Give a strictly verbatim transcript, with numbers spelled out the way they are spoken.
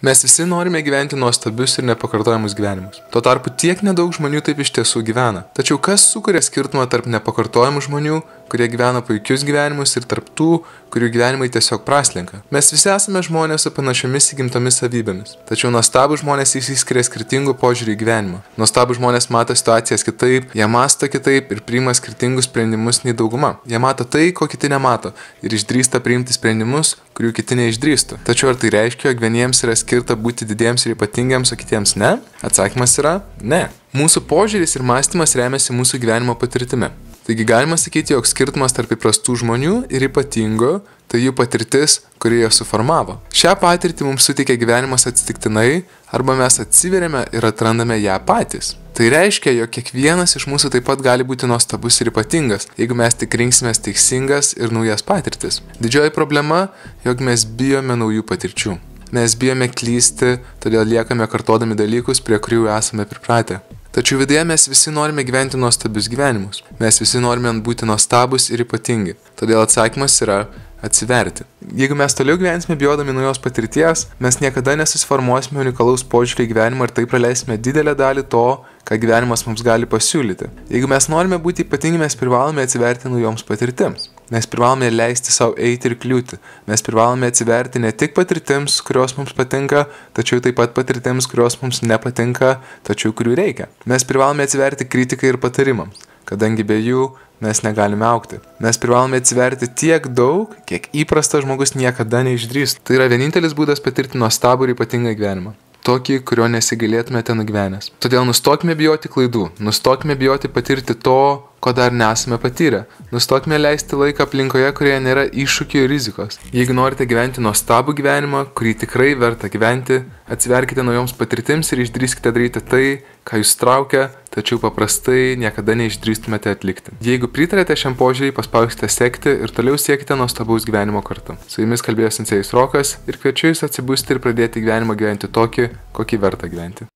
Mes visi norime gyventi nuostabius ir nepakartojamus gyvenimus. Tuo tarpu tiek nedaug žmonių taip iš tiesų gyvena. Tačiau kas sukuria skirtumą tarp nepakartojamų žmonių, kurie gyvena puikius gyvenimus, ir tarp tų, kurių gyvenimai tiesiog praslenka? Mes visi esame žmonės su panašiomis įgimtomis savybėmis. Tačiau nuostabūs žmonės išsiskiria skirtingų požiūrių į gyvenimą. Nuostabūs žmonės mato situacijas kitaip, jie mąsto kitaip ir priima skirtingus sprendimus nei dauguma. Jie mato tai, ko kiti nemato, ir išdrįsta priimti sprendimus, kurių kiti neišdrįstų. Tačiau ar tai reiškia, jog vieniems yra skirta būti didiems ir ypatingiems, o kitiems ne? Atsakymas yra ne. Mūsų požiūris ir mąstymas remiasi mūsų gyvenimo patirtimi. Taigi galima sakyti, jog skirtumas tarp įprastų žmonių ir ypatingų – tai jų patirtis, kuri juos suformavo. Šią patirtį mums suteikia gyvenimas atsitiktinai, arba mes atsiveriame ir atrandame ją patys. Tai reiškia, jog kiekvienas iš mūsų taip pat gali būti nuostabus ir ypatingas, jeigu mes tik rinksimės teisingas ir naujas patirtis. Didžioji problema, jog mes bijome naujų patirčių. Mes bijome klysti, todėl liekame kartodami dalykus, prie kurių esame pripratę. Tačiau viduje mes visi norime gyventi nuostabius gyvenimus. Mes visi norime būti nuostabus ir ypatingi. Todėl atsakymas yra atsiverti. Jeigu mes toliau gyvensime bijodami naujos patirties, mes niekada nesusiformuosime unikalaus požiūrį į gyvenimą ir taip praleisime didelę dalį to, ką gyvenimas mums gali pasiūlyti. Jeigu mes norime būti ypatingi, mes privalome atsiverti naujoms patirtims. Mes privalome leisti savo eiti ir kliūti. Mes privalome atsiverti ne tik patirtims, kurios mums patinka, tačiau taip pat patirtims, kurios mums nepatinka, tačiau kurių reikia. Mes privalome atsiverti kritikai ir patarimams, kadangi be jų mes negalime augti. Mes privalome atsiverti tiek daug, kiek įprastas žmogus niekada neišdrįstų. Tai yra vienintelis būdas patirti nuostabų ir ypatingą gyvenimą. Tokį, kurio nesigailėtumėte nugyvenęs. Todėl nustokime bijoti klaidų, nustokime bijoti patirti to, ko dar nesame patyrę. Nustokime leisti laiką aplinkoje, kurioje nėra iššūkių ir rizikos. Jeigu norite gyventi nuostabų gyvenimą, kurį tikrai verta gyventi, atsiverkite naujoms patirtims ir išdrįskite daryti tai, ką jūs traukia, tačiau paprastai niekada neišdrįstumėte atlikti. Jeigu pritarėte šiam požiūrį, paspauskite sekti ir toliau siekite nuostabaus gyvenimo kartu. Su jumis kalbėjo Sensėjus Rokas ir kviečiu jūs atsibusti ir pradėti gyvenimą gyventi tokį, kokį verta gyventi.